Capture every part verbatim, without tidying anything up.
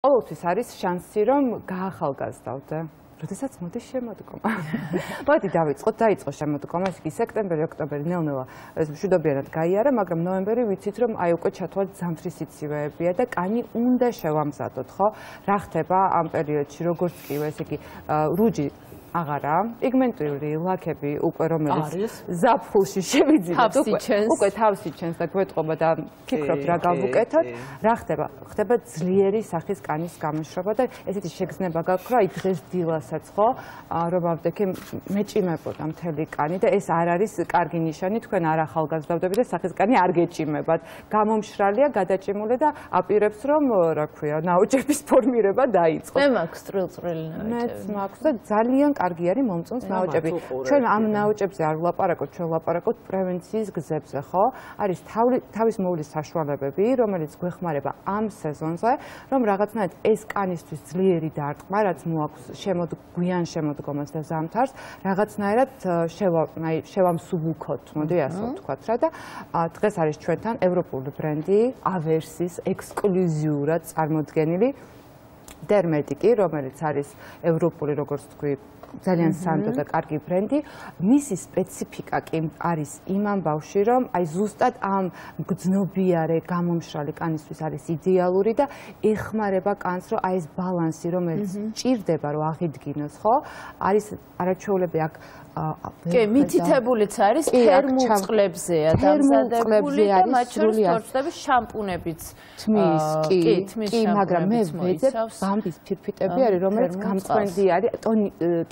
ყოველთვის არის შანსი, რომ გაახალგაზრდავდე. როდესაც მოდის შემოდგომა. მოდი დავიწყოთ, დაიწყო შემოდგომა, ეს კი სექტემბერი, ოქტომბერი ნელ-ნელა მშვიდობიანად გაიარა, მაგრამ ნოემბერი ვიცით, რომ აი უკვე ჩათვალეთ ზამთრის სიცივეებია და კანი უნდა შევამზადოთ, ხო? რა ხდება ამ პერიოდში, როგორც კი, ესე იგი, რუჯი აღარა, პიგმენტური ლაქები უკვე რომელიც ზაფხულში შევიძინოთ, უკვე თავსი ჩენს და გვეტყობა და ფიქრობთ რა გავუკეთოთ, რა ხდება? ხდება ძლიერი სახის კანის გამოშრობა და ესეთი შეგრძნება გაქვს, რომ აი დღეს დილასაც ხო, რომ ავდექი მეჭიმებოდა მთელი კანი და ეს არ არის კარგი ნიშანი, თქვენ არ ახალგაზრდავდებით და სახის კანი არ გეჭიმებათ. გამომშრალია, გადაჭიმული და აპირებს რომ, რა ქვია, ნაოჭების ფორმირება დაიწყოს. მე მაქვს წვრილ-წვრილი ნაოჭები. მეც მაქვს და ძალიან კარგი არის მომწონს ნაოჭები. ჩვენ ამ ნაოჭებზე არ ვლაპარაკობთ, ჩვენ ვლაპარაკობთ პრევენციის გზებზე, ხო? არის თავის მოვლის საშუალებები, რომელიც გვეხმარება ამ სეზონზე, რომ რაღაცნაირად ეს კანისთვის ძლიერი დარტყმა, რაც მოაქვს შემოგვიან შემოდგომას და ზამთარს, რაღაცნაირად შევამსუბუქოთ, მოდი ასე ვთქვათ რა და დღეს არის ჩვენთან ევროპული ბრენდი ავერსის ექსკლუზიურად წარმოდგენილი დერმეტიკი, რომელიც არის ევროპული, როგორც თქვი, ძალიან სანდო და კარგი ბრენდი. მისი სპეციფიკა კი არის იმ ამბავში, რომ აი ზუსტად ამ გრძნობიარე, გამომშრალი კანისთვის არის იდეალური და ეხმარება კანს, რომ აი ეს ბალანსი, რომელიც ჭირდება, რომ აღიდგინოს, ხო? არის არაჩვეულები აქ კი, მითითებულიც არის თერმულ წყლებზეა დამზადებული და მათ შორის თორცლების შამპუნებიც თმის, კი, კი, მაგრამ მე ვეძებ ბამბის ფირფიტები არის, რომელიც გამწვენდი არის,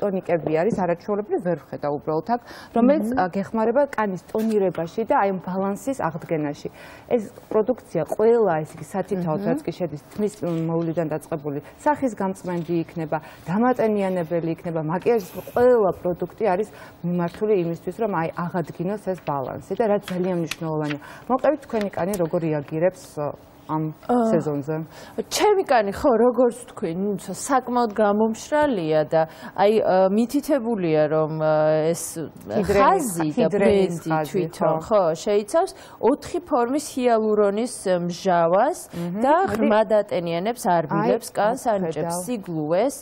ტონიკები არის, არაჩვეულებრივ ვერ ვხედა უბრალოდ აქ, რომელიც გეხმარება კანის ტონირებაში და აი ამ ბალანსის აღდგენაში. ეს პროდუქცია ყველა, ესე იგი, სათითაოდ რაც კი შედის თმის მოვლიდან დაწყებული, სახის გამწვენდი იქნება, დამატენიანებელი იქნება, მაკიაჟის ყველა პროდუქტი არის მიმართული იმისთვის, რომ აი აღადგინოს ეს ბალანსი და რაც ძალიან მნიშვნელოვანია. მოყევით თქვენი კანი როგორ რეაგირებს ამ სეზონზე? ჩემი კანი ხო, როგორც თქვი, ნუ საკმაოდ გამომშრალია და აი მითითებულია, რომ ეს ხაზი და ბრენდი თვითონ ხო შეიცავს ოთხი ფორმის ჰიალურონის მჟავას და ღრმად ატენიანებს, არბილებს, კანს ანიჭებს, სიგლუეს,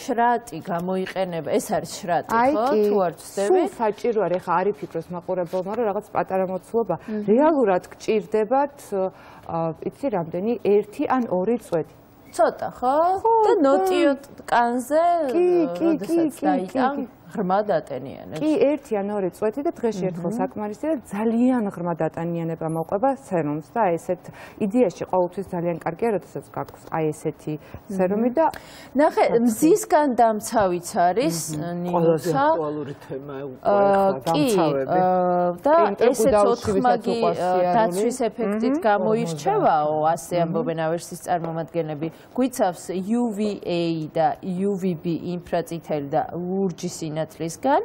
შრატი გამოიყენება, ეს არის შრატი, ხო? თუ არ ვცდები? სულ საჭირო არის, ხა არ იფიქროს მაყურებელმა, რომ რაღაც პატარა მოცულობა რეალურად გჭირდებათ იცი რამდენი ერთი ან ორი წვეთი. ცოტა, ხო? და ნოტიო კანზე, როდესაც დაიტან ღრმად ატენიანებს. კი, ერთი ან ორი წვეთი და დღეში ერთხელ საკმარისია და ძალიან ღრმად ატენიანება მოყვება სერუმს და აი ესეთ იდეაში ყოველთვის ძალიან კარგია, როდესაც გაქვს აი ესეთი სერუმი და ნახე, მზისგან დამცავიც არის ნიუცა. ყველაზე აქტუალური თემა უკვე დამცავები. და ესეც ოთხმაგი დაცვის ეფექტით გამოირჩევაო, ასე ამბობენ ავერსის წარმომადგენლები. გვიცავს იუ ვი ეი და იუ ვი ბი ინფრაწითელი და ლურჯი სინათლისგან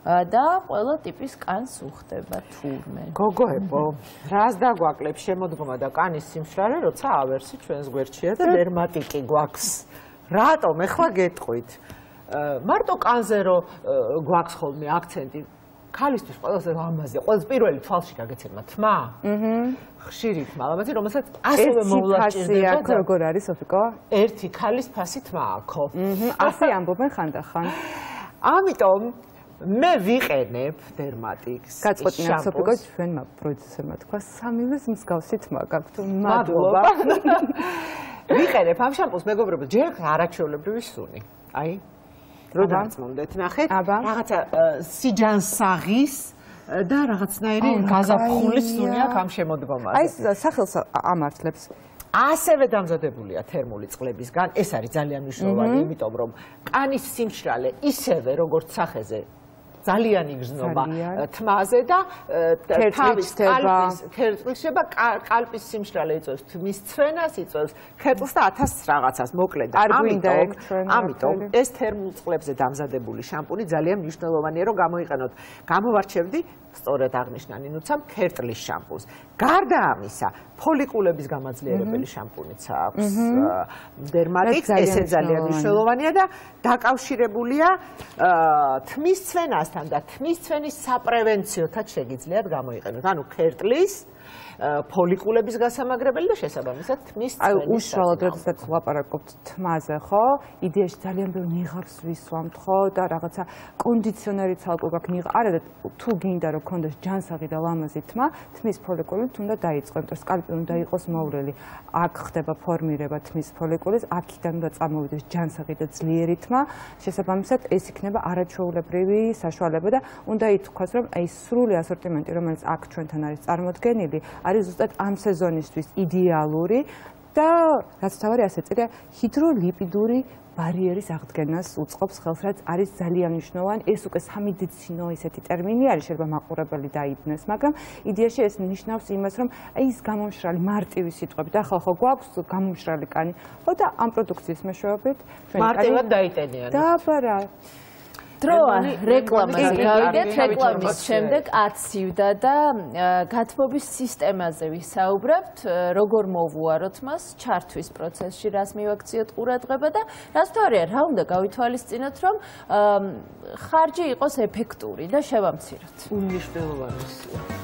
და ყველა ტიპის კანს უხდება თურმე. გოგოებო, რას დაგვაკლებს შემოდგომა და კანის სიმშრალე, როცა ავერსი ჩვენს გვერდშია და დერმატიკი გვაქვს. რატომ ეხლა გეტყვით? მარტო კანზე რო გვაქვს ხოლმე აქცენტი, ქალისთვის ყველაზე ლამაზია, ყველაზე პირველი თვალში გაგეცემა თმა. აჰა. ხშირი თმა, ლამაზი, რომელსაც ასევე მოვლა ჭირდება. როგორ არის, სოფიკო? ერთი ქალის ფასი თმა აქო. აჰა. ასე ამბობენ ხანდახან. ამიტომ მე ვიყენებ დერმატიკს. გაწყვეტინა სოფიკო, ჩვენმა პროდიუსერმა თქვა სამივეს მსგავსი თმა გაქვთ. მადლობა. ვიყენებ ამ შამპუნს, მეგობრებო, ჯერ არაჩვეულებრივი სუნი. აი რო დამწმუნდეთ, ნახეთ, რაღაცა სიჯანსაღის და რაღაცნაირი გაზაფხული სუნი აქვს ამ შემოდგომაზე. აი სახელს ამართლებს. ასევე დამზადებულია თერმული წყლებისგან, ეს არის ძალიან მნიშვნელოვანი, იმიტომ რომ კანის სიმშრალე ისევე როგორც სახეზე ძალიან იგრძნობა თმაზე და თავის კალპის თერწყვისება, კალპის სიმშრალე იწვევს თმის ცვენას, იწვევს ქერწლს და ათას რაღაცას მოკლედ. ამიტომ ამიტომ ეს თერმულ წყლებზე დამზადებული შამპუნი ძალიან მნიშვნელოვანია, რომ გამოიყენოთ. გამოვარჩევდი სწორედ აღნიშნანი ნუცამ ქერტლის შამპუნს. გარდა ამისა, ფოლიკულების გამაძლიერებელი შამპუნიც აქვს დერმატიკს, ესე ძალიან მნიშვნელოვანია და დაკავშირებულია თმის ცვენასთან და თმის ცვენის საპრევენციოთაც შეგიძლიათ გამოიყენოთ. ანუ ქერტლის ფოლიკულების გასამაგრებელი და შესაბამისად თმის აი უშუალოდ როდესაც ვლაპარაკობთ თმაზე, ხო? იდეაში ძალიან ბევრ ნიღაბს ვისვამთ, ხო? და რაღაცა კონდიციონერიც ალკო გაქვს ნიღაბ. არა და თუ გინდა რომ გქონდეს ჯანსაღი და ლამაზი თმა, თმის ფოლიკულით უნდა დაიწყო, იმიტომ რომ სკალპი უნდა იყოს მოვლილი. აქ ხდება ფორმირება თმის ფოლიკულის, აქედან უნდა წამოვიდეს ჯანსაღი და ძლიერი თმა. შესაბამისად ეს იქნება არაჩვეულებრივი საშუალება და უნდა ითქვას, რომ აი სრული ასორტიმენტი, რომელიც აქ ჩვენთან არის წარმოდგენილი, არის ზუსტად ამ სეზონისთვის იდეალური და რაც თავარი ასე წია ჰიდროლიპიდური ბარიერის აღდგენას უწყობს ხელს, რაც არის ძალიან მნიშვნელოვანი. ეს უკვე სამედიცინო ესეთი ტერმინი არის, შეიძლება მაყურებელი დაიბნეს, მაგრამ იდეაში ეს ნიშნავს იმას, რომ აი ეს გამომშრალი მარტივი სიტყვებით, ახლა ხო გვაქვს გამომშრალი კანი, ხო და ამ პროდუქციის მეშვეობით მარტივად დაიტენიან. დაბარა დროა რეკლამაზე გავიდეთ, რეკლამის შემდეგ აცივდა და გათბობის სისტემაზე ვისაუბრებთ, როგორ მოვუაროთ მას ჩართვის პროცესში, რას მივაქციოთ ყურადღება და რაც თორეა, რა უნდა გავითვალისწინოთ, რომ ხარჯი იყოს ეფექტური და შევამციროთ. უნიშნელოვანია.